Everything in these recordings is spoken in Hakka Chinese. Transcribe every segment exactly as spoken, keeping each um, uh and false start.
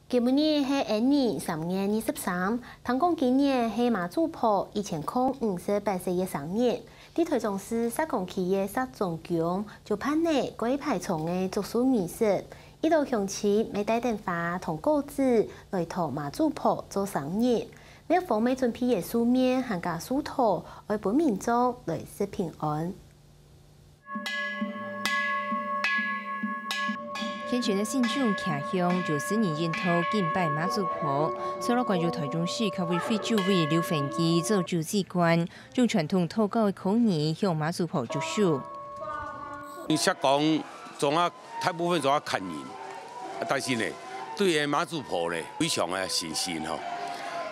今晡日係恩曆三月二十三，聽講今日係媽祖婆一千空五十八歲个生日。在臺中市石岡區个石中宮，就辦理過一排場个祝壽儀式，一兜鄉親乜帶等花同果子來討媽祖婆做生日。廟方乜準備个壽麵還加壽桃，愛分民眾來食平安。 虔誠个信眾擎香，由四人引導敬拜媽祖婆。蔡老官由臺中市客委會主委劉煥基做主祭官，用傳統道教个口語向媽祖婆祝壽。你石岡總啊，大部分總啊客人，但是呢，對个媽祖婆呢，非常个神聖吼。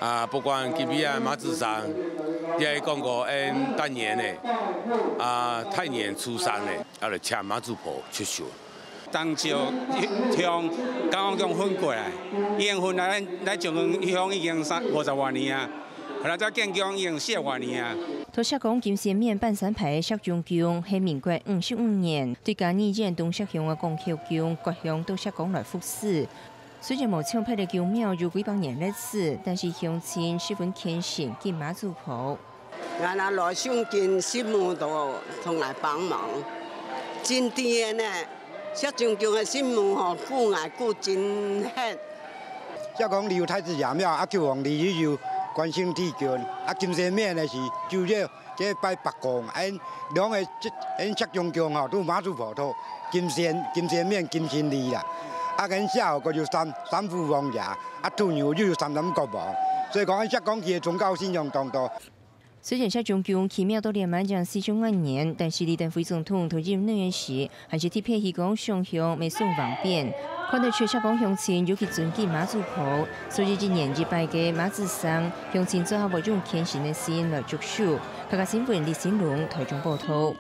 啊，不管今日啊媽祖生，也係講過，嗯，大年呢，啊，大年初三呢， 啊，來請媽祖婆出巡。當朝像剛剛講分過來，已經分來，來將近已經三五十外年啊，後來再建宮已經四十外年啊。在石岡金仙面半山牌个石中宮，係民國五十五年，對嘉義縣東石鄉个廣口宮割香到石岡來服侍。雖然無像別个宮廟有幾百年歷史，但是鄉親十分虔誠敬媽祖婆。 𠊎阿老兄跟神母都同𠊎幫忙，真甜个呢。石中宮个神母吼，顧𠊎顧真核。石岡裡有太子爺廟，啊，九王里又有關聖帝君，啊，金仙面个是九月，這拜伯公，恁兩个這，恁石中宮吼，都媽祖婆托，金仙，金仙面、金仙里啦。啊，恁社後个有三，三府王爺，啊，土牛又有三山國王，所以講，恁石岡佢个宗教信仰當多。 雖然石中宮起廟到這滿正四十五年，但是李登輝總統在任內个時，還是特別起工上香，乜送橫匾。看得出石岡鄉親尤其尊敬媽祖婆，所以一年一擺个媽祖生，鄉親做下會用虔誠个心來祝壽。客家新聞李新龍臺中報導。